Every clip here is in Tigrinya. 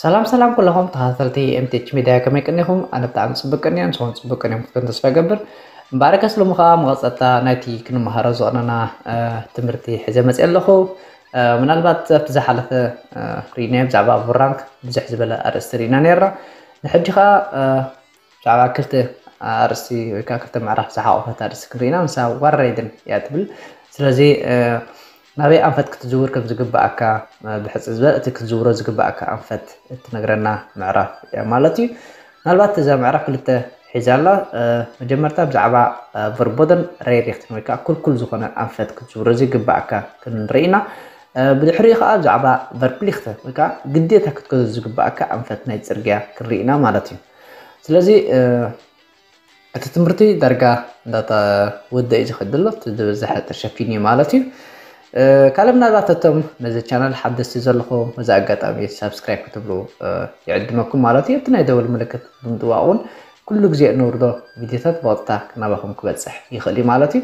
ሰላም ሰላም ኩለኹም ተኸታተልቲ M T H Media፣ ከመይ ቀኒኹም? ኣነ ብጣዕሚ ጽቡቅ ቀኒየ፣ ንስኹም ጽቡቅ ቀኒኹም ክትኮኑ ተስፋ ይገብር። እምበኣርከስ ሎሚ ኸኣ መቐጸልታ ናይቲ ክንመሃሮ ዝቐነና ትምህርቲ ሒዘ መጽየ ኣለኹ። ምናልባት ኣብቲ ዝሓለፈ ርኢናዮ ብዛዕባ ቡራንክ ብዙሕ ዝበለ ኣርእስቲ ርኢና ነይርና። ንሕጂ ኸኣ ብዛዕባ ክልተ ኣርእስቲ ወይ ከዓ ክልተ ምዕራፍ ዝሓቆፈት ኣርእስቲ ክንርኢና፣ ንሳ ዋረይድን እያ ትብል። ስለዚ ናበይ ኣንፈት ክትዝውር ከም ዝግባኣካ ብሕጽ ዝበል እቲ ክትዝውሮ ዝግባኣካ ኣንፈት እትነግረና ምዕራፍ እያ ማለት እዩ። ምናልባት እዛ ምዕራፍ ክልተ ሒዛ ኣላ። መጀመርታ ብዛዕባ ቨርቦደን ሬሪክትን ወይ ከዓ ኩልኩል ዝኾነ ኣንፈት ክትዝውሮ ዝግባኣካ ክንርኢ ኢና። ብድሕሪኡ ከዓ ብዛዕባ ቨርፕሊክተ ወይ ከዓ ግዴታ ክትገዞ ዝግባኣካ ኣንፈት ናይ ፅርግያ ክንርኢ ኢና ማለት እዩ። ስለዚ እቲ ትምህርቲ ዳርጋ እንዳተወደእ እዩ ዝኸድ ዘሎ፣ እቲ ዝበዝሐ ተሸፊኑ እዩ ማለት እዩ። ካልእ ምናልባት እቶም ነዚ ቻናል ሓደስቲ ዘለኹም በዚ ኣጋጣሚ ሳብስክራይብ ክትብሉ ይዕድመኩም ማለት እዩ። እቲ ናይ ደወል ምልክት ብምጥዋቕ እውን ኩሉ ግዜ እነውርዶ ቪድዮታት ብቐጥታ ናባኹም ክበፅሕ ይኽእል እዩ ማለት እዩ።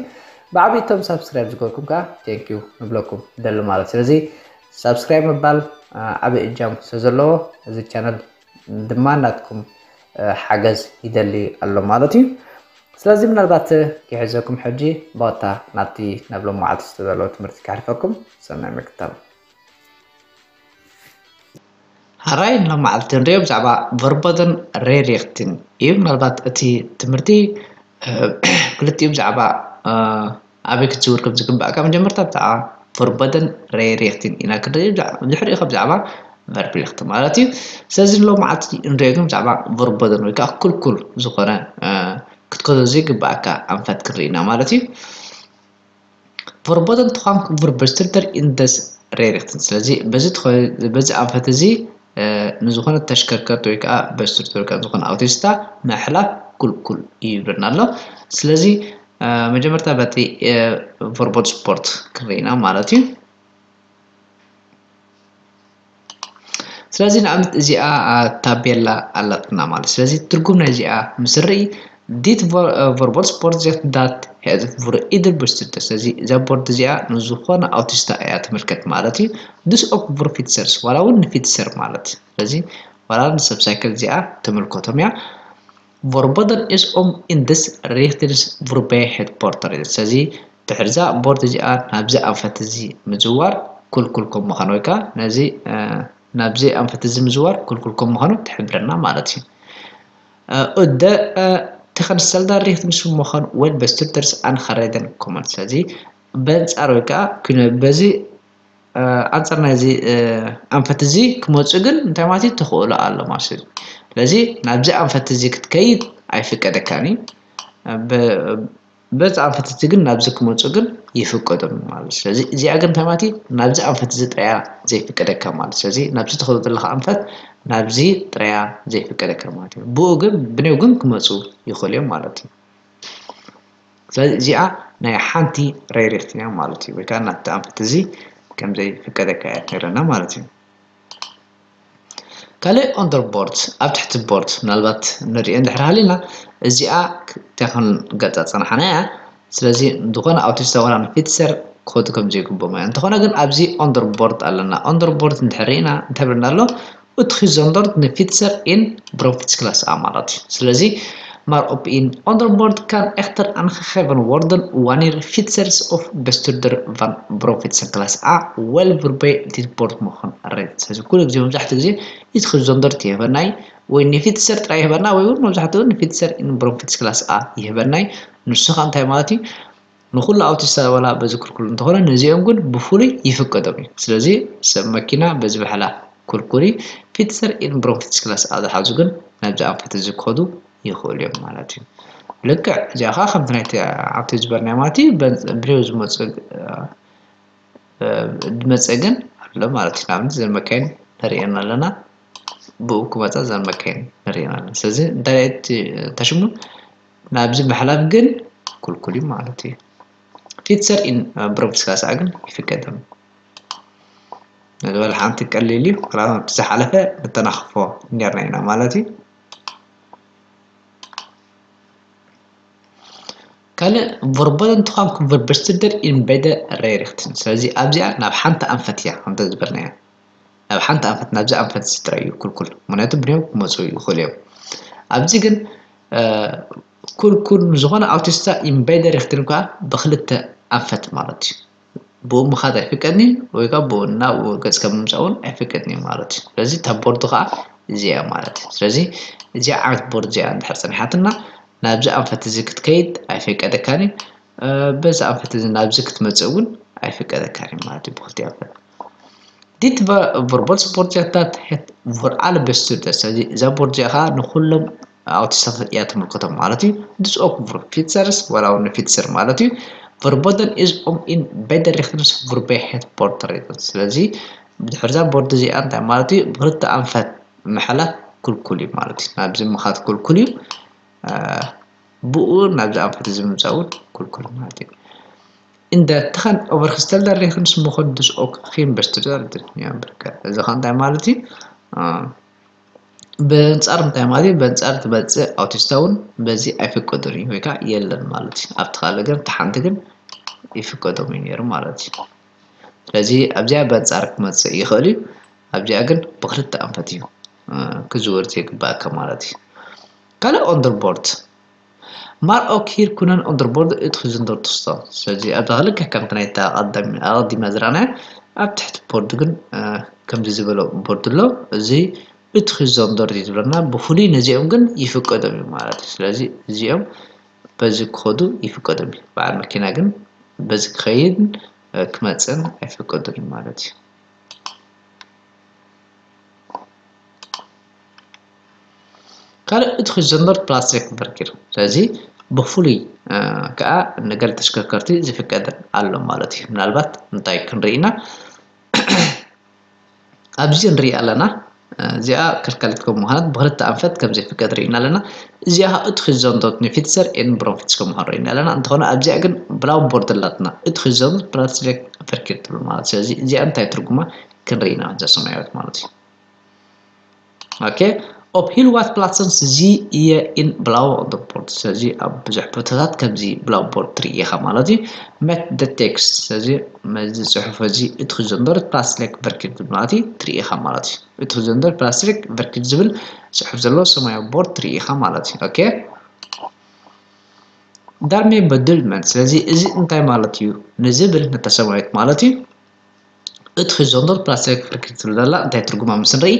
ብዓብዪ እቶም ሳብስክራይብ ዝገበርኩም ከዓ ቴንኪዩ ንብለኩም ደሊ ማለት እዩ። ስለዚ ሳብስክራይብ ምባል ዓብዪ እጃም ስለዘለዎ እዚ ቻነል ድማ ናትኩም ሓገዝ ይደሊ ኣሎ ማለት እዩ። ስለዚ ምናልባት ክሕዘኩም ሕጂ ብቐጥታ ናብቲ ናብ ሎም መዓልቲ ዝተዳለወ ትምህርቲ ከሕልፈኩም። ሰናይ ምክታል። ሓራይ ሎም መዓልቲ ንሪኦ ብዛዕባ ቨርቦደን ሬሪክትን እዩ። ምናልባት እቲ ትምህርቲ ክልቲኡ ብዛዕባ ኣበይ ክትዝውር ከም ዝግባእካ መጀመርታ ብዛዕባ ቨርቦደን ሬሪክትን ኢና ክንርኢ። ድሕሪኡ ካብ ብዛዕባ ቨርፕሊክት ማለት እዩ። ስለዚ ሎም መዓልቲ እንሪኦ ግን ብዛዕባ ቨርቦደን ወይ ከዓ ክልኩል ዝኾነ ክትከዶ ዘይግባእካ ኣንፈት ክንርኢ ኢና ማለት እዩ። ቨርቦደን ትኳን ቨርበስትርደር ኢንደስ ሬሪክትን። ስለዚ በዚ ኣንፈት እዚ ንዝኾነ ተሽከርከርቲ ወይ ከዓ በስትርደር ወይ ከዓ ዝኾነ ኣውቶስታ ምሕላፍ ኩልኩል እዩ ይብለና ኣሎ። ስለዚ መጀመርታ በቲ ቨርቦት ስፖርት ክንርኢና ማለት እዩ። ስለዚ ንኣብነት እዚኣ ታቤላ ኣላትና ማለት። ስለዚ ትርጉም ናይ እዚኣ ምስ ንርኢ ዲት ቨርቦት ስፖርት ዜት ዳት ሄዝ ቡር ኢድር ብስትተ። ስለዚ እዛ ቦርድ እዚኣ ንዝኾነ ኣውቲስታ እያ ትምልከት ማለት እዩ። ድስ ኦክ ቡር ፊትሰርስ ዋላ እውን ንፊትሰር ማለት። ስለዚ ዋላ ንሰብ ሳይክል እዚኣ ትምልከቶም እያ። ቨርቦደን ኢስ ኦም ኢንድስ ሪክትንስ ቡርበይ ሄድ ፖርተር። ስለዚ ድሕርዛ ቦርድ እዚኣ ናብዚ ኣንፈት እዚ ምዝዋር ኩልኩል ከም ምዃኑ ወይ ከዓ ነዚ ናብዚ ኣንፈት እዚ ምዝዋር ኩልኩል ከም ምዃኑ ትሕብረና ማለት እዩ። እደ ተኸንሰልዳ ሪክትንስ ምዃኑ ወል በስትርደርስ ኣንኸረደን ኮመን። ስለዚ በንጻር ወይ ከዓ ኩነ በዚ ኣንጻር ናይዚ ኣንፈት እዚ ክመፁ ግን እንታይ ማለት እዩ? ተኽእሎ ኣሎ ማለት እዩ። ስለዚ ናብዚ ኣንፈት እዚ ክትከይድ ኣይፍቀደካን እዩ። በዚ ኣንፈት እዚ ግን ናብዚ ክመፁ ግን ይፍቀዶም ማለት እዩ። ስለዚ እዚኣ ግን እንታይ ማለት እዩ? ናብዚ ኣንፈት እዚ ጥራያ ዘይፍቀደካ ማለት እዩ። ስለዚ ናብዚ ትኸዶ ዘለካ ኣንፈት ናብዚ ጥራያ ዘይፍቀደካ ማለት እዩ። ብኡ ግን ብኔው ግን ክመፁ ይኽእሉ እዮም ማለት እዩ። ስለዚ እዚኣ ናይ ሓንቲ ሬሪክት እያ ማለት እዩ። ወይ ከዓ ናብቲ ኣንፈት እዚ ከም ዘይፍቀደካ እያ ትነግረና ማለት እዩ። ካልእ ኦንደር ቦርድ ኣብ ትሕቲ ቦርድ ምናልባት ንሪኦ እንድሕር ሃሊና እዚኣ ተኽን ገጻ ጸናሓና እያ። ስለዚ ዝኾነ ኣውቲስታ ዋላ ንፊትሰር ክኸዱ ከም ዘይግብኦም እያ። እንተኾነ ግን ኣብዚ ኦንደር ቦርድ ኣለና። ኦንደር ቦርድ እንድሕር ርኢና እንታይ ብለና ኣሎ? Utgezonderd ንፊትሰር ኢን ብሮንፊትስ ክላስ ኣ ማለት እዩ። ስለዚ ማር ኦፕ ኢን ኦንደርቦርድ ካን ኤክተር ኣንኸኸቨን ወርደን ዋኒር ፊትሰርስ ኦፍ በስቱርደር ቫን ብሮንፊትሰን ክላስ ኣ ወል ቡርበይ ዲት ቦርድ ምኾን ሬት። ስለዚ ኩሉ ግዜ መብዛሕትኡ ግዜ ኢትክዞንደርት ይህበናይ ወይ ንፊትሰር ጥራይ ይህበና ወይ እውን መብዛሕትኡ ንፊትሰር ኢን ብሮንፊትስ ክላስ ኣ ይህበናይ። ንሱ ኸ እንታይ ማለት እዩ? ንኹሉ ኣውቲስታ ዋላ በዚ ክልኩል እንተኾነ ነዚኦም ግን ብፍሉይ ይፍቀዶም እዩ። ስለዚ ሰብ መኪና በዚ ብሕላ ኩልኩል እዩ። ፊትሰር ኢን ብሮንፊትስ ክላስ ኣ ዝሓዙ ግን ናብዚ ኣንፈት እዚ ክኸዱ ይኽእሉ እዮም ማለት እዩ። ልክዕ እዚኣ ከዓ ከምቲ ናይቲ ኣብቲ ዝበልናዮ ማለት እዩ። ብሬው ዝመፁ ዝመፀ ግን ኣሎ ማለት እዩ። ንኣብነት ዘን መካይን ንሪኤን ኣለና። ብኡ ክመፃ ዘን መካይን ንሪኤን ኣለና። ስለዚ እንታይ ተሽሙ ናብዚ ምሕላፍ ግን ኩልኩል እዩ ማለት እዩ። ፊትሰር ኢን ብሮንፊትስ ክላስ ኣ ግን ይፍቀደም። ነዚ ወላ ሓንቲ ቀሊል እዩ። ዝሓለፈ ንተናኽፎ ነርና ኢና ማለት እዩ። ካልእ ቨርቦደን ትዃን ኩንቨርበስትደር ኢን በደ ሬሪክትን። ስለዚ ኣብዚኣ ናብ ሓንቲ ኣንፈት እያ ከምተ ዝበልናያ ናብ ሓንቲ ኣንፈት ናብዚ ኣንፈት እዚ ጥራይ እዩ ክልኩል። ምክንያቱ ብንዮም ክመፁ ይኽእሉ እዮም። ኣብዚ ግን ኩልኩል ንዝኾነ ኣውቲስታ ኢምባይደር ይኽትል ከዓ ብክልተ ኣንፈት ማለት እዩ። ብኡ ምኻድ ኣይፍቀድኒ ወይ ከዓ ብኡ ናብ ገጽካ ምምጻእ እውን ኣይፍቀድኒ ማለት እዩ። ስለዚ እታ ቦርድ ከዓ እዚኣ ማለት እዩ። ስለዚ እዚኣ ዓይነት ቦርድ እዚኣ እንድሕር ጸኒሓትና ናብዚ ኣንፈት እዚ ክትከይድ ኣይፍቀደካን እዩ። በዚ ኣንፈት እዚ ናብዚ ክትመጽእ እውን ኣይፍቀደካን እዩ ማለት እዩ። ብክልቲኡ ኣንፈት ዲት ቨርቦልስ ቦርድ እዚኣ ታት ሄት ቨር ኣለ በስቱደ። ስለዚ እዛ ቦርድ እዚኣ ከዓ ንኩሎም ኣውቲስታታት እያ ትምልከቶም ማለት እዩ። ድስኦክ ቨር ፊትሰርስ ዋላ እውን ንፊትሰር ማለት እዩ። ቨርቦደን ኢዝ ኦም ኢን በደር ሪክትንስ ቨርቤ ሄት ቦርድ ሪክትንስ። ስለዚ ብድሕርዛ ቦርድ እዚኣ እንታይ ማለት እዩ? ብክልተ ኣንፈት ምሕላፍ ክልኩል እዩ ማለት እዩ። ናብዚ ምኻት ክልኩል እዩ። ብኡ ናብዚ ኣንፈት እዚ ምምፃእ እውን ክልኩል ማለት እዩ። In de ten overgestelde regens mogen dus ook geen bestuurder verwerken. እዚ ኸ እንታይ ማለት እዩ? ብኣንጻር እንታይ ማለት እዩ? ብኣንጻር ትመጽእ ኣውቲስታ እውን በዚ ኣይፍቀዱን እዩ ወይ ከዓ የለን ማለት እዩ። ኣብቲ ካልእ ግን፣ እቲ ሓንቲ ግን ይፍቀዶም እዩ ነይሩ ማለት እዩ። ስለዚ ኣብዚኣ ብኣንጻር ክመጽእ ይኽእል እዩ፣ ኣብዚኣ ግን ብክልተ ኣንፈት እዩ ክዝወር ዘይግባእካ ማለት እዩ። ካልእ ኦንደርቦርድ ማር ኦክ ሂር ኩነን ኦንደርቦርድ እትኽዝን ዶርትስቶ። ስለዚ ኣብዛ ክልተ ከምቲ ናይታ ኣቐዲምና ዝረኣናዮ ኣብ ትሕቲ ቦርድ ግን ከምዚ ዝበለ ቦርድ ኣሎ። እዚ እትኽዞን ዶርት ዝብለና ብፍሉይ ነዚኦም ግን ይፍቀዶም እዩ ማለት እዩ። ስለዚ እዚኦም በዚ ክኸዱ ይፍቀዶም እዩ። በዓል መኪና ግን በዚ ክኸይድን ክመፅእን ኣይፍቀዶም እዩ ማለት እዩ። ካልእ እቲ ክዘንበር ፕላስቲክ በርኪር። ስለዚ ብፍሉይ ከዓ ንገለ ተሽከርከርቲ ዝፍቀደን ኣሎ ማለት እዩ። ምናልባት እንታይ ክንርኢ ኢና? ኣብዚ ንርኢ ኣለና። እዚኣ ከልካሊት ከም ምዃነት ብክልተ ኣንፈት ከም ዘይፍቀድ ርኢና ኣለና። እዚኣ እቲ ክዘንቶት ንፊትሰር ኤን ብሮንፊትስ ከም ምዃኑ ርኢና ኣለና። እንተኾነ ኣብዚኣ ግን ብላው ቦርድ ኣላትና። እቲ ክዘንቶት ፕላስቲክ በርኪር ትብል ማለት። ስለዚ እዚኣ እንታይ ትርጉማ ክንርኢ ኢና፣ እዛ ሰማያዊት ማለት እዩ። ኦኬ፣ ኦፕ ሂል ዋት ፕላትሰንስ ዚ እየ ኢን ብላው ኦንደርቦርድ። ስለዚ ኣብ ብዙሕ ቦታታት ከምዚ ብላው ቦርድ ትርኢ ኢኻ ማለት እዩ። መት ደ ቴክስት፣ ስለዚ መዚ ጽሑፍ እዚ እቲ ክዘንበር ፕላስቲክ በርኪር ማለት እዩ ትርኢ ኢኻ ማለት እዩ። እቲ ክዘንበር ፕላስቲክ በርኪር ዝብል ጽሑፍ ዘለዎ ሰማያዊ ቦርድ ትርኢ ኢኻ ማለት እዩ። ኦኬ፣ ዳርሜ በዱል መን፣ ስለዚ እዚ እንታይ ማለት እዩ ንዝብል ነታ ሰማያዊት ማለት እዩ። እቲ ክዞንዶር ፕላስቲክ ፍርክት ትብል ዘላ እንታይ ትርጉማ ምስ ንርኢ፣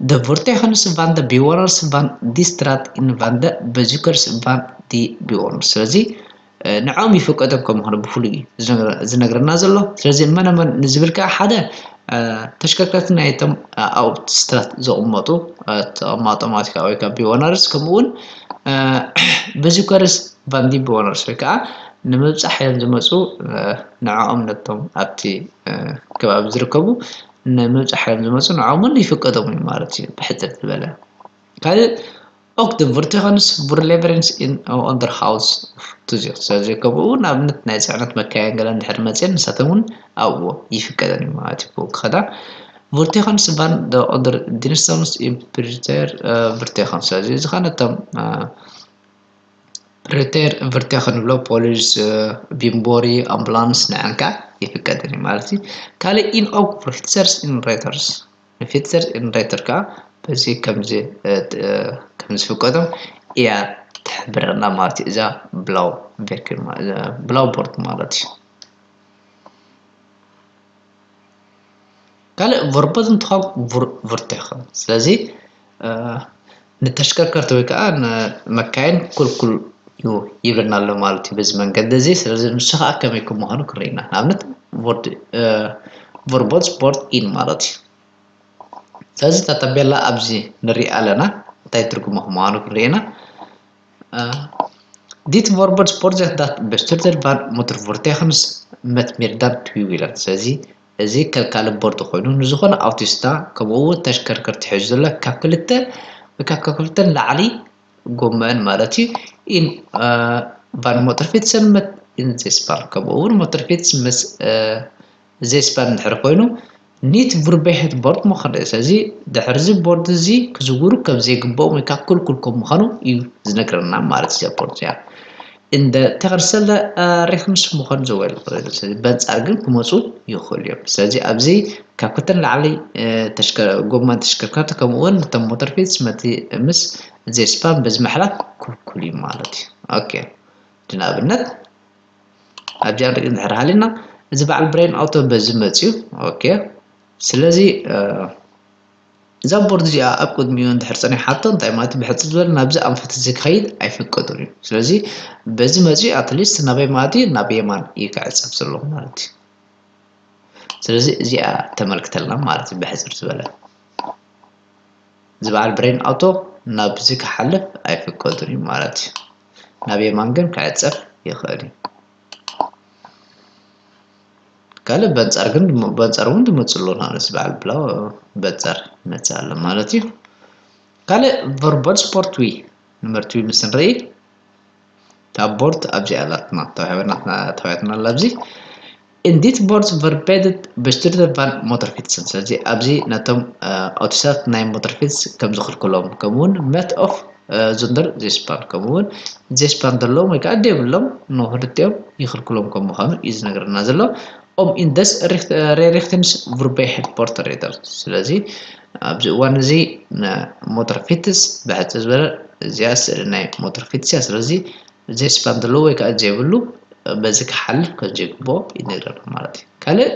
ደ ቮርቴኸንስ ቫን ደ ቢወነርስ ቫን ዲ ስትራት ኢን ቫን ደ በዚከርስ ቫን ዲ ቢወነርስ። ስለዚ ንዕኦም ይፍቀዶም ከም ምዃኑ ብፍሉይ እዩ ዝነግረ-፣ ዝነግረና ዘሎ። ስለዚ መነ መን ንዝብል ከዓ ሓደ ተሽከርከርቲ ናይቶም ኣብቲ ስትራት ዝቕመጡ ተቐማጦም ኣውቲካ ወይ ከዓ ቢወነርስ፣ ከምኡ እውን በዚከርስ ቫን ዲ ቢወነርስ ወይ ከዓ ንምብፃሕ እዮም ዝመፁ፣ ንዕኦም ነቶም ኣብቲ ከባቢ ዝርከቡ ንምብፃሕ እዮም ዝመፁ፣ ንዕኦም እውን ይፍቀዶም እዩ ማለት እዩ። ብሕፅር ዝበለ ካልእ ኦክ ደ ቮርቴኸንስ ቡር ሌቨሬንስ ኢን ኦንደርሃውስ ቱዚር። ስለዚ ከምኡ እውን ኣብነት ናይ ፅዕነት መካየን ገለ እንድሕር መፅየን ንሳቶም እውን ኣብኡ ይፍቀደን እዩ ማለት እዩ። ክኸዳ ቮርቴኸንስ ቫን ደ ኦንደር ዲንስተምስ ኢምፕሪተር ቮርቴኸን። ስለዚ እዚ ኸ ነቶም ፕሪተር ቨርቴ ክንብሎ ፖሊስ፣ ቢምቦሪ፣ ኣምቡላንስ ንዐንካ ይፍቀደን እዩ ማለት እዩ። ካልእ ኢን ኦክ ፊትሰርስ ኢን ሬተርስ፣ ንፊትሰርስ ኢን ሬተር ከዓ በዚ ከምዚ ከምዚ ፍቀዶም እያ ትሕብረና ማለት እዩ። እዛ ብላው ቬክል ብላው ቦርድ ማለት እዩ። ካልእ ቨርቦት እንትኾን ቨርቴኸን። ስለዚ ንተሽከርከርቲ ወይ ከዓ ንመካይን ኩልኩል እዩ ይብለና ኣሎ ማለት እዩ በዚ መንገዲ እዚ። ስለዚ ንሱ ከዓ ከመይ ከም ምዃኑ ክንርኢ ኢና። ንኣብነት ቨርቦት ስፖርት ኢን ማለት እዩ። ስለዚ እታ ታቤላ ኣብዚ ንሪኣ ኣለና እንታይ ትርጉሙ ከም ምዃኑ ክንርኢ ኢና። ዲት ቨርቦት ስፖርት ዛት ዳት በስቱርተር ቫን ሞተር ቮርቴኸንስ መት ሜርዳን ትዊዊለን። ስለዚ እዚ ከልካሊ ቦርድ ኮይኑ ንዝኾነ ኣውቲስታ ከምኡ እውን ተሽከርከርቲ ሒዙ ዘሎ ካብ ክልተ ወይ ካብ ክልተ ንላዕሊ ጎመን ማለት እዩ። ኢን ቫን ሞተር ፊትሰን መት ኢን ዜስፓን ከምኡ እውን ሞተር ፊትስ ምስ ዜስፓን እንድሕር ኮይኑ ኒት ቡርቤ ሄት ቦርድ ምዃኑ እዩ። ስለዚ ድሕርዚ ቦርድ እዚ ክዝውሩ ከም ዘይግብኦም ወይ ከዓ ክልኩል ከም ምዃኑ እዩ ዝነግረና ማለት እዩ። ቦርድ እዚኣ እንደ ተኸርሰለ ሬክምስ ምኾን ዘወል በንጻር ግን ክመፁ ይኽእሉ እዮም። ስለዚ ኣብዚ ካብ ክተን ላዕሊ ጎማን ተሽከርከርቲ ከምኡ እውን ነቶም ሞተር ፊትስ መቲ ምስ ዜስፓን በዚ ምሕላፍ ክልኩል እዩ ማለት እዩ። ኦኬ፣ ንኣብነት ኣብዚኣ ንርኢ እንድሕር ሃሊና እዚ በዓል ብሬን ኣውቶ በዚ መፅዩ። ኦኬ፣ ስለዚ እዛ ቦርድ እዚኣ ኣብ ቅድሚኡ እንድሕር ፀኒሓቶ እንታይ ማለት እዩ? ብሕፅር ዝበለ ናብዚ ኣንፈት እዚ ክኸይድ ኣይፍቀዱን እዩ። ስለዚ በዚ መፅዩ ኣትሊስት ናበይ ማለት እዩ? ናብ የማን እዩ ክዕፀፍ ዘለኹ ማለት እዩ። ስለዚ እዚኣ ተመልክተልና ማለት እዩ። ብሕፅር ዝበለ እዚ በዓል ብሬን ኣውቶ ናብዚ ክሓልፍ ኣይፍቀዱን እዩ ማለት እዩ። ናብ የማን ግን ክዕፀፍ ይኽእል እዩ። ካልእ በንጻር ግን በንጻር እውን ትመፅእ ኣሎ። ንኣብነት በዓል ብላው በንጻር ይመፅእ ኣሎ ማለት እዩ። ካልእ ቨርባል ስፖርት ዊ ንመርት ዊ ምስ ንርኢ ካብ ቦርድ ኣብዚ ኣላትና ተዋሂበና ተዋሂትና ኣላ ኣብዚ እንዲት ቦርድ ቨርቤድት በስትርተ ቫን ሞተር ፊትስን። ስለዚ ኣብዚ ነቶም ኣውቶሳት ናይ ሞተር ፊትስ ከም ዝኽልክሎም ከምኡውን መት ኦፍ ዙንደር ዜስፓን ከምኡውን ዜስፓን ዘለዎም ወይ ከዓ ደብሎም ንክልቲኦም ይኽልክሎም ከም ምዃኑ እዩ ዝነግረና ዘሎ። ኦም ኢንደስ ሬሪክትንስ ቡርበይ ሄድፖርት ሬደር። ስለዚ ኣብዚ እዋን እዚ ሞተር ፊትስ ብሕፅር ዝበለ እዚኣ ስእሊ ናይ ሞተር ፊትስ እያ። ስለዚ ዜስፓን ዘለዎ ወይ ከዓ ዘይብሉ በዚ ክሓልፍ ከም ዘይግብኦ ይነግረና ማለት እዩ። ካልእ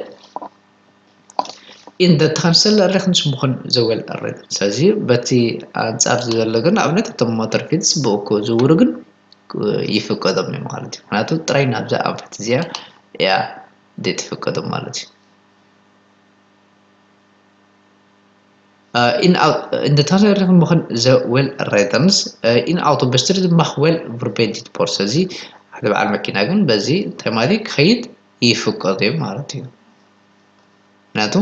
ኢንደ ተኸንሰል ሬክንስ ምኾን ዘወል ሬደር። ስለዚ በቲ ኣንጻር ዘሎ ግን ኣብነት እቶም ሞተር ፊትስ ብእኮ ዝውሩ ግን ይፍቀዶም እዩ ማለት እዩ። ምክንያቱ ጥራይ ናብዛ ኣንፈት እዚኣ እያ ዘይትፍቀዶም ማለት እዩ። In the transaction ምኾን ዘ ዌል ሬተርንስ ኢን ኣውቶ በስትሪ ድማ ዌል ቨርቤዲት ቦርስ እዚ ሓደ በዓል መኪና ግን በዚ ተማሪ ክኸይድ ይፍቀድ እዩ ማለት እዩ። ምክንያቱ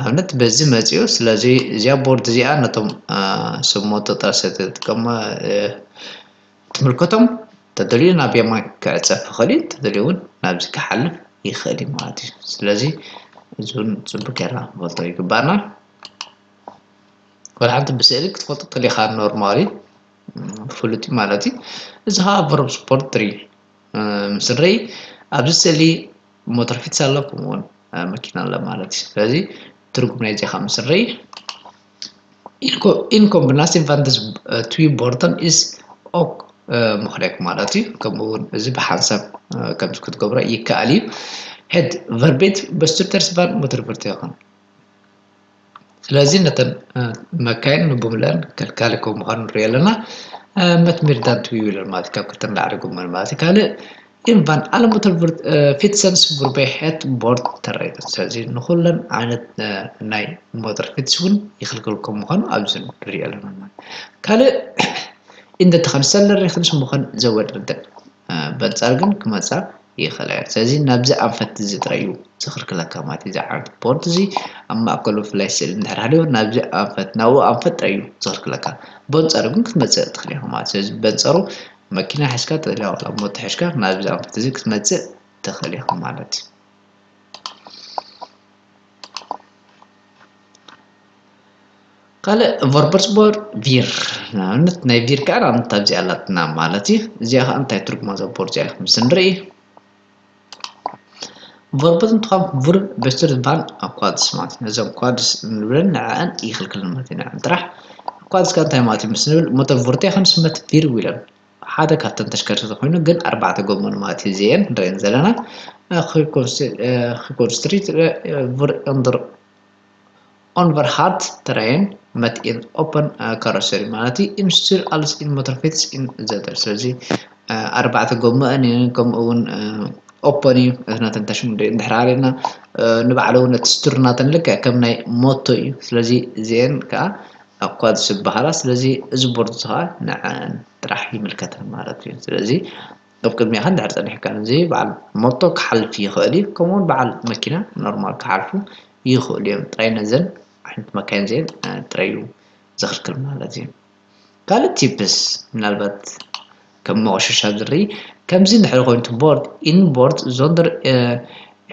ኣብነት በዚ መፅኡ። ስለዚ እዚኣ ቦርድ እዚኣ ነቶም ስሞቶ ጥራሰ ተጥቀመ ትምልከቶም። ተደልዩ ናብ የማን ክዕፀፍ ይኽእል እዩ፣ ተደልዩ እውን ናብዚ ክሓልፍ ይኽእል እዩ ማለት እዩ። ስለዚ እዚ እውን ፅቡቅ ጌርና ክንፈልጦ ይግባና። ወላ ሓንቲ ብስእሊ ክትፈልጦ ተሊኻ ኖርማሊ ፍሉጥ እዩ ማለት እዩ። እዚ ከዓ ቨርብ ስፖርት ትሪ ምስ ንርኢ ኣብዚ ስእሊ ሞተር ፊትስ ኣሎ፣ ከምኡውን መኪና ኣሎ ማለት እዩ። ስለዚ ትርጉም ናይ ዜኻ ምስ ንርኢ ኢንኮምብናሲ ቫንደስ ትዊ ቦርተን ኢስ ኦክ ምኽሬክ ማለት እዩ። ከምኡውን እዚ ብሓንሳብ ከምዚ ክትገብሮ ይከኣል እዩ። ሄድ ቨርቤት በስቱተርስ ቫን ሞተር ቨርቴኽን ስለዚ ነተን መካይን ንቡምለን ከልካሊ ከም ምዃኑ ንሪኦ ኣለና። መትሚርዳን ትዊው ኢለን ማለት ካብ ክልተ ንላዕሊ ጎመን ማለት እዩ። ካልእ ኢንቫን ኣለሞተር ፊትሰንስ ቡርበይ ሄት ቦርድ ተረይተን። ስለዚ ንኩለን ዓይነት ናይ ሞተር ፊትስ እውን ይኽልክል ከም ምዃኑ ኣብዚ ንሪኦ ኣለና ማለት። ካልእ ኢንደ ተኸንሰለር ሪኽንስ ምዃን ዘወድርደን በንጻር ግን ክመጻ ይኽእል እያ። ስለዚ ናብዚ ኣንፈት እዚ ጥራይ እዩ ዝኽልክለካ ማለት እዩ። እዚ ዓይነት ቦርድ እዚ ኣብ ማእከሉ ብፍላይ ስእሊ እንድሕር ሃልዩ ናብዚ ኣንፈት ናብኡ ኣንፈት ጥራይ እዩ ዝኽልክለካ። በንጻሩ ግን ክትመጽእ ትኽእል ኢኻ ማለት። ስለዚ በንጻሩ መኪና ሒዝካ ተደልያ ዋላ ሞቶ ሒዝካ ናብዚ ኣንፈት እዚ ክትመጽእ ትኽእል ኢኻ ማለት እዩ። ካልእ ቨርበርስ ቦር ቪር ንኣብነት ናይ ቪር ከዓ ንኣብነት ኣብዚ ኣላትና ማለት እዩ። እዚኣ ከዓ እንታይ ትርጉማ እዛ ቦር እዚኣ ምስ ንርኢ ቨርበት እንትኾን ቡር በስትር ዝበሃል ኣብ ኳድስ ማለት እዩ። ነዘን ኳድስ እንብለን ንዕአን ይኽልክልን ማለት እዩ። ንዕን ጥራሕ ኳድስ ከዓ እንታይ ማለት እዩ ምስ ንብል ሞተር ቡርቴ ከም ስመት ቪር ዊለን ሓደ ካብተን ተሽከርከርቲ ኮይኑ ግን ኣርባዕተ ጎመን ማለት እዩ። እዚአን ንሪአን ዘለና ኪኮንስትሪት ቡር እንደር ኦንቨርሃርት ትራየን መት ኢን ኦፐን ካሮሰሪ ማለት እዩ። ኢንስቱር ኣልስ ኢን ሞተር ፊትስ ኢን ዘተር ስለዚ ኣርባዕተ ጎመአን እየን ከምኡ እውን ኦፐን እዩ። ነተን ተሽሙ እንድሕር ኣለና ንባዕሉ እውን እቲ ስቱር ናተን ልክዕ ከም ናይ ሞቶ እዩ። ስለዚ እዚአን ከዓ ኣኳድስ ይበሃላ። ስለዚ እዚ ቦርድ ከዓ ንዐን ጥራሕ ይምልከተን ማለት እዩ። ስለዚ ኣብ ቅድሚኻ እንድሕር ጸኒሕካ እዚ በዓል ሞቶ ክሓልፍ ይኽእል እዩ። ከምኡውን በዓል መኪና ኖርማል ክሓልፉ ይኽእሉ እዮም። ጥራይ ነዘን ዓይነት መካይን እዚአን ጥራይ እዩ ዘኽልክል ማለት እዩ። ካልእ ቲፕስ ምናልባት ከም መቆሸሻ ዝርኢ ከምዚ እንድሕር ኮይኑ ቦርድ ኢን ቦርድ ዞንደር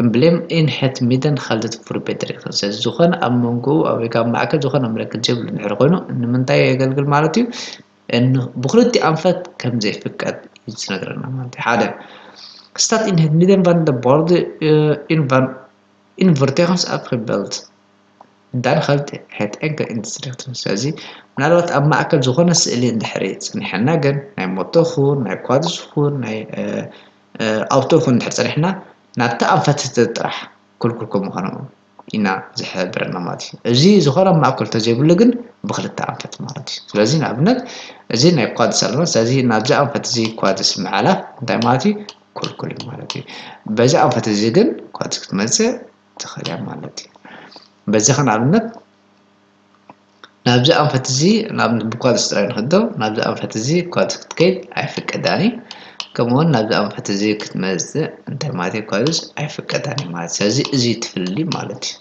ኤምብሌም ኢን ሄት ሚደን ካልደት ፉር ቤተሪ ስለዚ ዝኾነ ኣብ መንጎኡ ኣብ ወይ ካብ ማእከል ዝኾነ ምልክት ዘይብሉ እንድሕር ኮይኑ ንምንታይ የገልግል ማለት እዩ? ብክልቲኡ ኣንፈት ከም ዘይፍቀድ እዩ ዝነግረና ማለት እዩ። ሓደ ስታት ኢን ሄት ሚደን ቫን ደ ቦርድ ኢን ቫን ኢን ቨርቴክንስ ኣፕ ሪበልት ዳን ኸልት ሄት ኤንከ ኢንስትሪክትን። ስለዚ ምናልባት ኣብ ማእከል ዝኾነ ስእሊ እንድሕሪ ጸኒሐና ግን ናይ ሞቶ ኹን ናይ ኳድስ ኹን ናይ ኣውቶ ኹን እንድሕር ጸኒሕና ናብቲ ኣንፈት ጥራሕ ክልኩል ከም ምዃኑ ኢና ዝሕብረና ማለት እዩ። እዚ ዝኾነ ማእከል ተዘይብሉ ግን ብክልተ ኣንፈት ማለት እዩ። ስለዚ ንኣብነት እዚ ናይ ኳድስ ኣለና። ስለዚ ናብዚ ኣንፈት እዚ ኳድስ ምሓላፍ እንታይ ማለት እዩ? ክልኩል እዩ ማለት እዩ። በዚ ኣንፈት እዚ ግን ኳድስ ክትመጽእ ትኽእል እያ ማለት እዩ። በዚ ከ ንኣብነት ናብዚ ኣንፈት እዚ ናብ ብኳድስ ጥራይ ንኽዶ ናብዚ ኣንፈት እዚ ኳድስ ክትከይድ ኣይፍቀዳን እዩ። ከምኡውን ናብዚ ኣንፈት እዚ ክትመጽእ እንታይ ማለት እዩ? ኳድስ ኣይፍቀዳን እዩ ማለት። ስለዚ እዚ ትፍልሊ ማለት እዩ።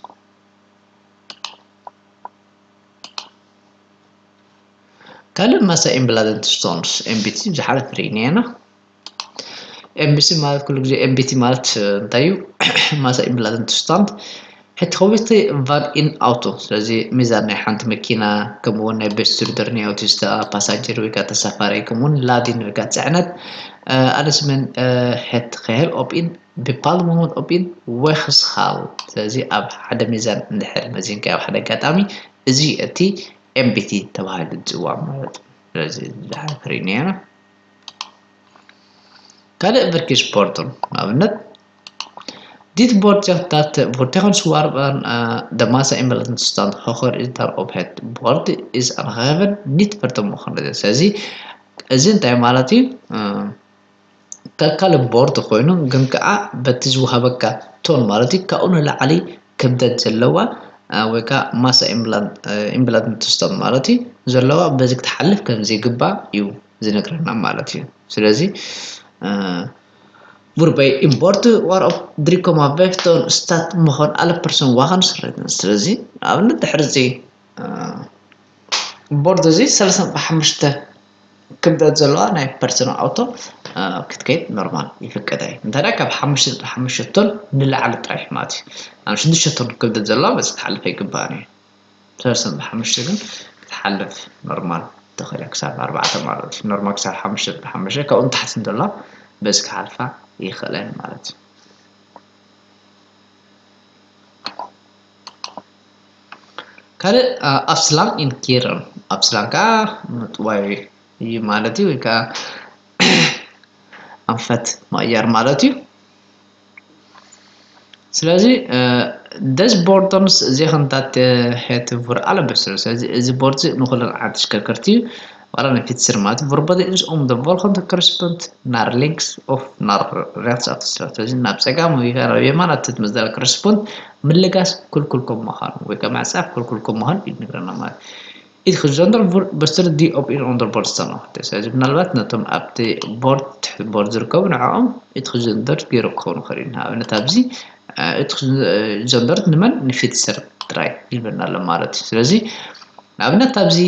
ካልእ ማሳ ኢምብላደንት ስቶንስ ኤምቢቲ ዝሓለፍ ርኢና ኢና። ኤምቢሲ ማለት ኩሉ ግዜ ኤምቢቲ ማለት እንታይ እዩ? ማሳ ኢምብላደንት ስቶንት ሕቲ ከዊቲ ቫን ኢን ኣውቶ። ስለዚ ሚዛን ናይ ሓንቲ መኪና ከምኡውን ናይ በስትርደር ናይ ኣውቲስታ ፓሳጀር ወይ ከዓ ተሳፋሪ ከምኡውን ላዲን ወይ ከዓ ፅዕነት ኣለስመን ሕት ከሄል ኦፕኢን ብፓል ሞመንት ኦፕኢን ወክስኻል። ስለዚ ኣብ ሓደ ሚዛን እንድሕር መዚንካ ኣብ ሓደ ኣጋጣሚ እዚ እቲ ኤምቢቲ ተባሂሉ ዝፅዋዕ ማለት እዩ። ስለዚ ዝሓፈር ኢና። ካልእ ቨርኪስ ቦርድን ንኣብነት ዲት ቦርድ ታት ቮርቴኸን ስዋርባን ደማሳ ኢምበለትን ስታንድ ሆኸር ኢንተር ኦፕሄት ቦርድ ኢዝ ኣንኸቨን ኒት ቨርተን ምኾነ። ስለዚ እዚ እንታይ ማለት እዩ? ከካል ቦርድ ኮይኑ ግን ከዓ በቲ ዝወሃበካ ቶን ማለት እዩ ካብኡ ንላዕሊ ክብደት ዘለዋ ወይ ከዓ ማሳ ኢምብላንት ትስቶም ማለት እዩ ዘለዋ በዚ ክትሓልፍ ከም ዘይግባእ እዩ ዝነግረና ማለት እዩ። ስለዚ ቡርበይ ኢምፖርት ዋር ኦፍ ድሪኮማ ቬፍቶን ስታት ምኾን ኣለ ፐርሰን ዋኸን ስረትን። ስለዚ ንኣብነት ድሕሪ እዚ ቦርድ እዚ ሰለስተ ነጥቢ ሓሙሽተ ክብደት ዘለዋ ናይ ፐርሰን ኣውቶ ክትከይድ ኖርማል ይፍቀድ እዩ። እንተ ካብ ሓሙሽተ ነጥቢ ሓሙሽተ ቶን ንላዕሊ ጥራሕ ማለት እዩ። ኣብ ሽዱሽተ ቶን ክብደት ዘለዋ በዚ ክትሓልፍ ኣይግባእን እዩ። ሰለስተ ነጥቢ ሓሙሽተ ግን ክትሓልፍ ኖርማል ተኽእለ ክሳብ ኣርባዕተ ማለት እዩ። ኖርማል ክሳብ ሓሙሽተ ነጥቢ ሓሙሽተ ካብኡ ንታሕቲ እንተሎ በዚ ክሓልፋ ይኽእለን ማለት እዩ። ካልእ ኣብስላም ኢንኪርን ኣብስላም ከዓ ምጥዋይ እዩ ማለት እዩ፣ ወይ ከዓ ኣንፈት ምቕያር ማለት እዩ። ስለዚ ደስ ቦርዶንስ እዚ ክንታት ሄት ቡር ኣለበስር። ስለዚ እዚ ቦርድ ንኩለን ዓዲ ተሽከርከርቲ እዩ። ዋላ ንፊት ስር ማለት ቡርበደ ኢንስ ኦም ደ ቮልኸንተ ክሪስፐንት ናር ሊንክስ ኦፍ ናር ሬክስ ኣፍተ ስራ። ስለዚ ናብ ጸጋም ወይ ናብ የማን ኣትት መዝደል ክሪስፐንት ምልጋስ ክልኩል ከም ምዃኑ ወይ ከዓ ምዕጻፍ ክልኩል ከም ምዃኑ እዩ ዝነግረና ማለት እዩ። ኢትክዘንደር በስተር ዲ ኦፕ ኢን ኦንደር ቦርድ ዝተነኸተ። ስለዚ ምናልባት ነቶም ኣብቲ ቦርድ ትሕቲ ቦርድ ዝርከቡ ንዕኦም ኢትክዘንደር ገይሩ ክኸውን ይኽእል እዩ። ንኣብነት ኣብዚ ኢትክዘንደር ንመን ንፊትሰር ጥራይ ይልበና ኣሎ ማለት እዩ። ስለዚ ንኣብነት ኣብዚ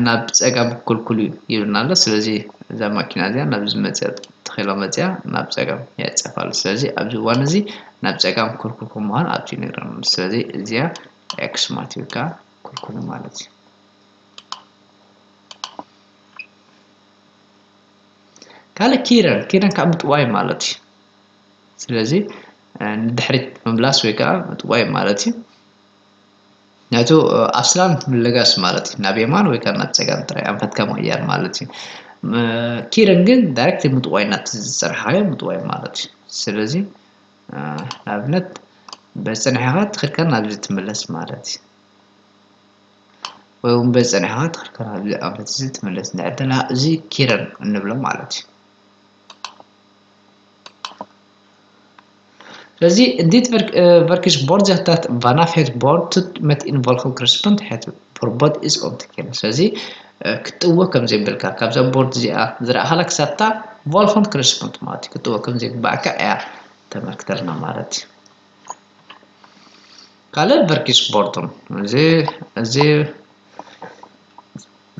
ናብ ጸጋም ክልኩል እዩ ይብልና ኣሎ። ስለዚ እዛ ማኪና እዚኣ ናብዚ መጽያ ተኺላ መጽያ ናብ ጸጋም የዕጸፋ ኣሎ። ስለዚ ኣብዚ እዋን እዚ ናብ ጸጋም ክልኩል ከም ምዃኑ ኣብዚ ይነግረና። ስለዚ እዚኣ ኤክስ ማለት እዩ፣ ከዓ ክልኩል ማለት እዩ። ካልእ ኪረን ኪረን ካብ ምጥዋይ ማለት እዩ። ስለዚ ንድሕሪት ምምላስ ወይ ከዓ ምጥዋይ ማለት እዩ። ናቱ ኣብስላም ምልጋስ ማለት እዩ። ናብ የማን ወይ ከዓ ናብ ጸጋም ጥራይ ኣንፈትካ ምቕያር ማለት እዩ። ኪረን ግን ዳይሬክት ምጥዋይ ናቲ ዝጸንሓዮ ምጥዋይ ማለት እዩ። ስለዚ ንኣብነት በጸኒሕኻ ትኽልካ ናብዚ ትምለስ ማለት እዩ። ወይ እውን በጸኒሕኻ ትኽልካ ናብዚ ኣንፈት እዚ ትምለስ። ንዕድና እዚ ኪረን እንብሎ ማለት እዩ። ስለዚ ዲት ቨርኪስ ቦርድ ዘታት ቫናፍ ሄት ቦርድ ትት መት ኢን ቮልኸን ክሪስፐንት ሄት ፎርቦድ ኢዝ ኦን ትኬን። ስለዚ ክትጥወ ከም ዘይብልካ ካብዛ ቦርድ እዚኣ ዝረኣኻላ ክሳብታ ቮልኸን ክሪስፐንት ማለት እዩ ክትጥወ ከም ዘይግባእካ እያ ተመልክተልና ማለት እዩ። ካልእ ቨርኪስ ቦርዶም እዚ እዚ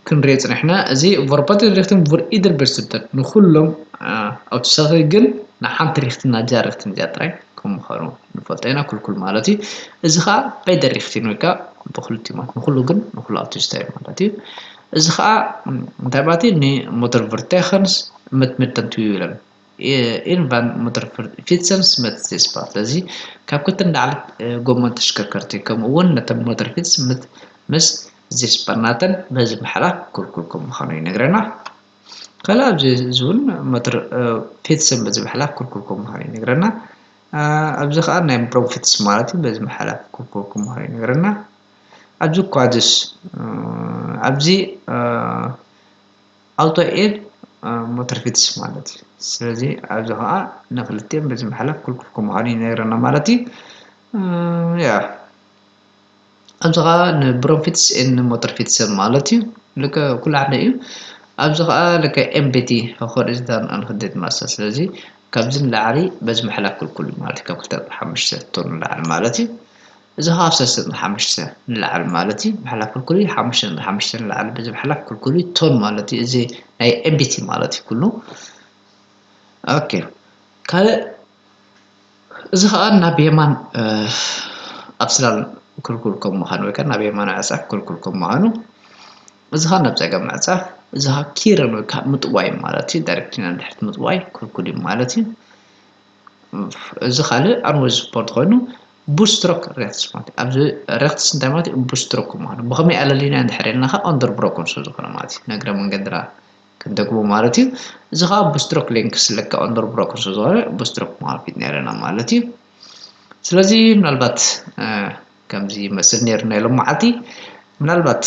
ክንሪኦ ጽኒሕና። እዚ ቨርባል ሪክትን ቨር ኢደር በርስትደር ንኹሎም ኣውትሳኺ ግን ንሓንቲ ሪክትን ናብዚኣ ሪክትን እዚኣ ጥራይ ከም ምዃኑ ንፈልጦ ኢና። ኩልኩል ማለት እዩ። እዚ ኸዓ በይደር ሪክትን ወይ ከዓ ብክልቲኡ ማለት ንኹሉ ግን ንኹሉ ኣውቲስታ እዩ ማለት እዩ። እዚ ከዓ እንታይ ማለት እዩ? ንሞተር ቨርቴኸንስ መት መደንቱ ይብለን። ኢንቫን ሞተር ፊትሰንስ መት ዜስፓ። ስለዚ ካብ ክልተ ንላዕሊ ጎመን ተሽከርከርቲ ከምኡ እውን ነተን ሞተር ፊትስ ምስ ዜስፓ ናተን በዚ ምሕላፍ ክልኩል ከም ምዃኑ ይነግረና። ካልእ ኣብዚ እዚ እውን ሞተር ፊትስን በዚ ምሕላፍ ክልኩል ከም ምዃኑ ይነግረና። ኣብዚ ከዓ ናይ ብሮም ፊትስ ማለት እዩ። በዚ ምሕላፍ ክልኩል ከም ምዃኑ ይነግረና። ኣብዚ ኳድስ ኣብዚ ኣውቶ ኤድ ሞተር ፊትስ ማለት እዩ። ስለዚ ኣብዚ ከዓ ንክልቲኦም በዚ ምሕላፍ ክልኩል ከም ምዃኑ ይነግረና ማለት እዩ። ያ ኣብዚ ከዓ ንብሮም ፊትስ ን ሞተር ፊትስ ማለት እዩ። ልከ ኩሉ ሓደ እዩ። ኣብዚ ከዓ ልከ ኤምቢቲ ሆሪዞንታል ን ቨርቲካል ማስተር። ስለዚ ካብዚ ንላዕሊ በዚ ምሕላፍ ክልኩል እዩ ማለት እዩ። ካብ ክልተ ነጥቢ ሓሙሽተ ቶን ንላዕሊ ማለት እዩ። እዚ ከዓ ካብ ሰለስተ ነጥቢ ሓሙሽተ ንላዕሊ ማለት እዩ። ምሕላፍ ክልኩል እዩ። ሓሙሽተ ነጥቢ ሓሙሽተ ንላዕሊ በዚ ምሕላፍ ክልኩል እዩ። ቶን ማለት እዩ። እዚ ናይ ኤምቢቲ ማለት እዩ ኩሉ። ኦኬ። ካልእ እዚ ከዓ ናብ የማን ኣብ ስላል ክልኩል ከም ምዃኑ ወይ ከዓ ናብ የማን ዕፃፍ ክልኩል ከም ምዃኑ፣ እዚ ከዓ ናብ ፀገም ዕፃፍ፣ እዚ ከዓ ኪርን ወይ ከዓ ምጥዋይ ማለት እዩ። ዳይሬክት ንድሕሪት ምጥዋይ ክልኩል እዩ ማለት እዩ። እዚ ካልእ ኣንወዝ ስፖርት ኮይኑ ቡስትሮክ ሬክትስ ማለት እዩ። ኣብዚ ሬክትስ እንታይ ማለት እዩ? ቡስትሮክ ምዃኑ። ብኸመይ ኣለሊና እንድሕር ኢልና ከዓ ኦንደር ብሮኮን ስለ ዝኾነ ማለት እዩ። ነግረ መንገድና ክንደግሞ ማለት እዩ። እዚ ከዓ ቡስትሮክ ሌንግስ ለካ ኦንደር ብሮኮን ስለ ዝኾነ ቡስትሮክ ማለት ነይረና ማለት እዩ። ስለዚ ምናልባት ከምዚ ይመስል ነይሩ ናይ ሎመዓልቲ። ምናልባት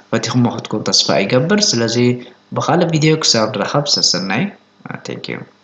ፈቲኹሞ ክትኮኑ ተስፋ ይገብር። ስለዚ ብኻልእ ቪድዮ ክሳብ ንራኸብ ሰሰናይ። Thank you።